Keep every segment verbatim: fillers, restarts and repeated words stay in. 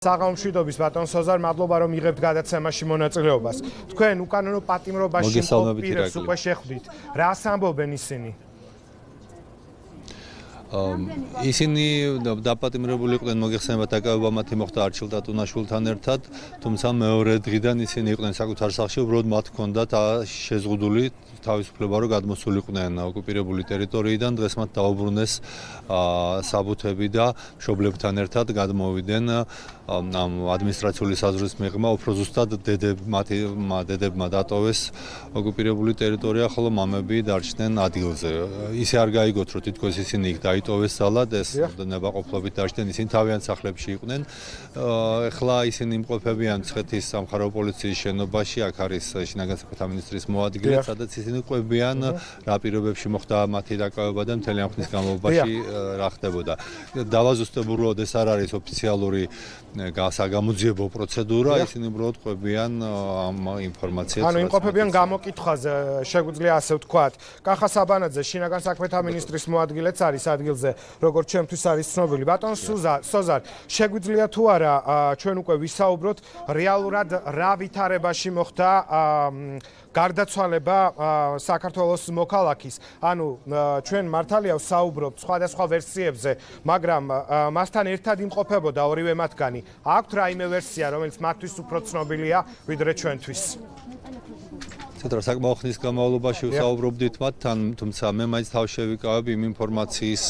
საღამომშვიდობის ბატონ სოზარ, მადლობა რომ იღებთ გადაცემაში მონაწილეობას. თქვენ უკანონო პატიმრობაში მყოფ პირებს უკვე შეხვდით. რას ამბობენ ისინი? ისინი დაპატიმრებული იყვნენ მოგეხსენებათ დაკავება მათი მოხდა არჩილ ტატუნაშვილთან ერთად, თუმცა მეორე დღიდან ისინი იყვნენ საკუთარ სახლში, უბრალოდ მათ ჰქონდათ შეზღუდული თავისუფლება რომ გადმოსულიყვნენ ოკუპირებული ტერიტორიიდან, დღეს მათ დაუბრუნეს საბუთები და მშობლებთან ერთად გადმოვიდნენ ამ ადმინისტრაციული საზღვრის მიღმა, უფრო ზუსტად დედებმა დედებმა დატოვეს ოკუპირებული ტერიტორია, ხოლო მამები დარჩნენ ადგილზე. ისე არ გაიგოთ, რომ თითქოს ისინი იქ დაიტოვეს ძალად, ეს ნებაყოფლობით დარჩნენ, ისინი თავიანთ სახლებში იყვნენ. ეხლა ისინი იმყოფებიან მცხეთის სამხარეო პოლიციის შენობაში, აქ არის შინაგან საქმეთა მინისტრის მოადგილე, სადაც ისინი ყვებიან რა პირობებში მოხდა მათი დაკავება და მთელი ამ ხნის განმავლობაში რა ხდებოდა. დავაზუსტებულად ეს არ არის ოფიციალური საგამოძიებო პროცედურა, ისინი უბრალოდ ყვებიან ამ ინფორმაციას. ანუ იმყოფებიან გამოკითხვაზე, შეგვიძლია ასე ვთქვათ. კახა საბანაძე, შინაგან საქმეთა მინისტრის მოადგილეც არის ადგილზე, როგორც ჩემთვის არის ცნობილი. ბატონ სოზარ, შეგვიძლია თუ არა ჩვენ უკვე ვისაუბროთ რეალურად რა ვითარებაში მოხდა გარდაცვალება საქართველოს მოქალაქის. ანუ ჩვენ მართალია ვსაუბრობთ სხვადასხვა ვერსიებზე, მაგრამ მასთან ერთად იმყოფებოდა ორივე მათგანი. აქვთ რაიმე ვერსია, რომელიც მათთვის უფრო ცნობილია ვიდრე ჩვენთვის? ცოტა საკმაო ხნის განმავლობაში ვსაუბრობდით მათთან, თუმცა მე მაინც თავ შევიკავებ იმ ინფორმაციის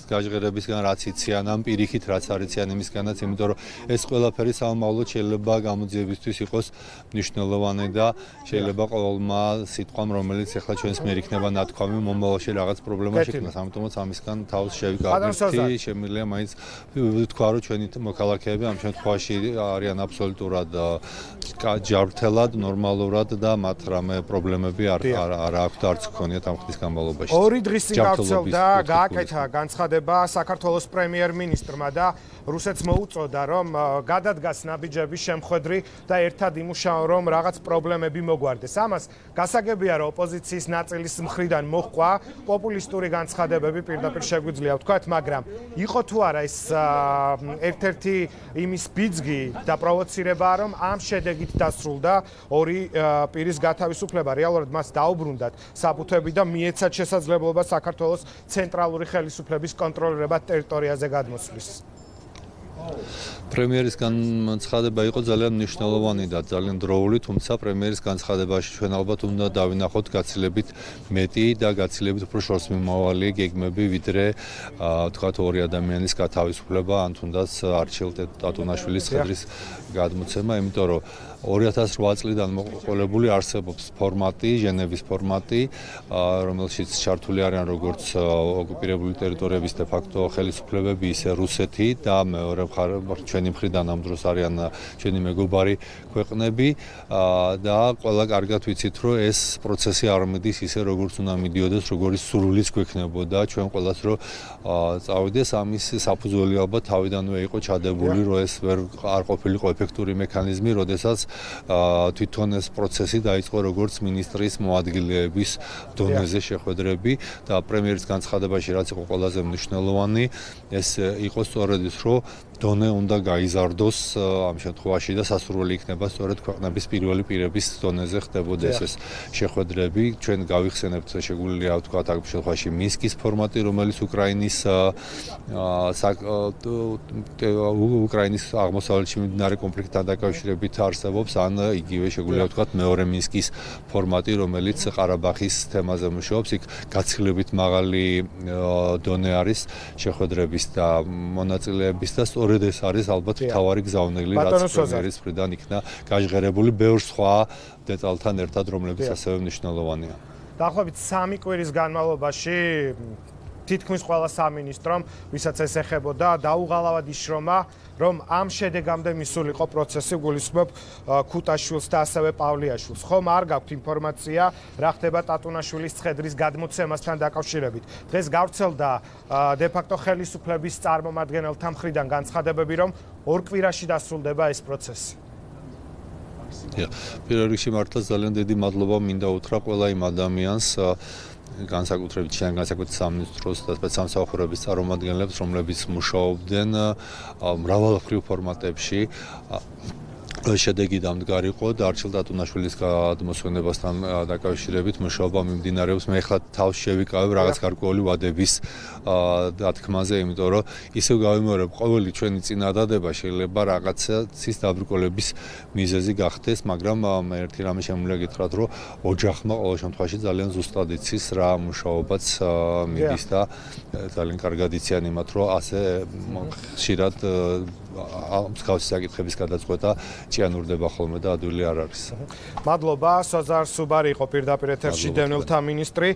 გაჟღერებისგან, რაც იციან, ამ პირიქით, რაც არ იციან იმისგანაც, იმიტომ რომ ეს ყველაფერი სამომავლოდ შეიძლება გამოძიებისთვის იყოს მნიშვნელოვანი და შეიძლება ყოველმა სიტყვამ, რომელიც ახლა ჩვენს მიერ იქნება ნათქვამი, მომავალში რაღაც პრობლემა შექმნას, ამიტომაც ამისგან თავს შევიკავებთ. შემიძლია მაინც ვთქვა, რომ ჩვენი მოქალაქეები ამ შემთხვევაში არიან აბსოლუტურად ჯანმრთელად, ნორმალურად და მათ რამე პრობლემები არ არ აქვთ არც გქონიათ ამ ხნის განმავლობაში. ორი დღის წინ გავრცელდა გააკეთა განცხადება საქართველოს პრემიერ-მინისტრმა და რუსეთს მოუწოდა, რომ გადადგას ნაბიჯების შემხედრი და ერთად იმუშაონ, რომ რაღაც პრობლემები მოგვარდეს. ამას გასაგებია, რომ ოპოზიციის ნაწილის მხრიდან მოჰყვა პოპულისტური განცხადებები, პირდაპირ შეგვიძლია ვთქვათ, მაგრამ იყო თუ არა ეს ერთ-ერთი იმის ბიძგი და პროვოცირება, რომ ამ შედეგით დასრულდა ორი პირის გათავისუფლება, რეალურად მას დაუბრუნდათ საბუთები და მიეცათ შესაძლებლობა საქართველოს ცენტრალური ხელისუფლების კონტროლირებად ტერიტორიაზე გადმოსვლის. პრემიერის განცხადება იყო ძალიან მნიშვნელოვანი და ძალიან დროული, თუმცა პრემიერის განცხადებაში ჩვენ ალბათ უნდა დავინახოთ გაცილებით მეტი და გაცილებით უფრო შორსმიმავალი გეგმები, ვიდრე თქვათ ორი ადამიანის გათავისუფლება, ან თუნდაც არჩილ ტატუნაშვილის ხედრის გადმოცემა, იმიტომ რომ ორი ათას რვა წლიდან მოყოლებული არსებობს ფორმატი, ჟენევის ფორმატი, რომელშიც ჩართული არიან როგორც ოკუპირებული ტერიტორიების de facto ხელისუფლებები, ისე რუსეთი და მეორე ჩვენი მხრიდან ამ დროს არიან ჩვენი მეგობარი ქვეყნები და ყველა კარგად ვიცით, რომ ეს პროცესი არ მიდის ისე როგორც უნდა მიდიოდეს, როგორც სრულიც გვექნებოდა ჩვენ ყველას რომ წავიდეს, ამის საფუძველი ალბათ თავიდანვე იყო ჩადებული, რომ ეს ვერ არ ყოფილიყო ეფექტური მექანიზმი, როდესაც თვითონ ეს პროცესი დაიწყო როგორც მინისტრის მოადგილეების დონეზე შეხვედრები და პრემიერის განცხადებაში რაც იყო ყველაზე მნიშვნელოვანი, ეს იყო სწორედ ის, რომ დონე უნდა გაიზარდოს ამ შემთხვევაში და სასურველი იქნება სწორედ ქვეყნების პირველი პირების დონეზე ხდებოდეს ეს შეხვედრები. ჩვენ გავიხსენებთ, შეგვიძლია ვთქვათ ამ შემთხვევაში მინსკის ფორმატი, რომელიც უკრაინის უკრაინის აღმოსავლეთში მიმდინარე კონფლიქტთან დაკავშირებით არსებობს, ან იგივე შეგვიძლია ვთქვათ მეორე მინსკის ფორმატი, რომელიც ყარაბაღის თემაზე მუშაობს. იქ გაცილებით მაღალი დონე არის შეხვედრების და მონაწილეების და სწორედ ეს არის ალბათ მთავარი გზავნილი, რაც პრემიერის მხრიდან იქნა გაჟღერებული ბევრ სხვა დეტალთან ერთად, რომლებიც ასევე მნიშვნელოვანია. დაახლოებით სამი კვირის განმავლობაში თითქმის ყველა სამინისტრომ, ვისაც ეს ეხებოდა, დაუღალავად იშრომა, რომ ამ შედეგამდე მისულიყო პროცესი, გულისხმობ ქუტაშვილს და ასევე პავლიაშვილს. ხომ არ გაქვთ ინფორმაცია, რა ხდება ტატუნაშვილის ცხედრის გადმოცემასთან დაკავშირებით. დღეს გავრცელდა de facto ხელისუფლების წარმომადგენელთა მხრიდან განცხადებები, რომ ორ კვირაში დასრულდება ეს პროცესი. პირველ რიგში მართლა ძალიან დიდი მადლობა მინდა უთხრა ყველა იმ ადამიანს განსაკუთრებით შენ განსაკუთრებით სამინისტროს და სპეცსამსახურების წარმომადგენლებს, რომლებიც მუშაობდნენ მრავალმხრივ ფორმატებში. შედეგი დამდგარიყო და არჩილ დატუნაშვილის გადმოსვენებასთან დაკავშირებით მუშაობა მიმდინარეობს. მე ახლა თავს შევიკავებ რაღაც გარკვეული ვადების დათქმაზე, იმიტომ რომ ისევ გავიმეორებ, ყოველი ჩვენი წინადადება შეიძლება რაღაცა ცის დაბრკოლების მიზეზი გახდეს, მაგრამ მე ერთი რამე შემიძლია გითხრათ, რომ ოჯახმა ყოველ შემთხვევაში ძალიან ზუსტად იცის რა მუშაობაც მიდის და ძალიან კარგად იციან იმათ, რომ ასე ხშირად მსგავსი საკითხების გადაწყვეტა ჭიანურდება ხოლმე და ადვილი არ არის. მადლობა, სოზარ სუბარი იყო პირდაპირ ეთერში დევნილთა მინისტრი.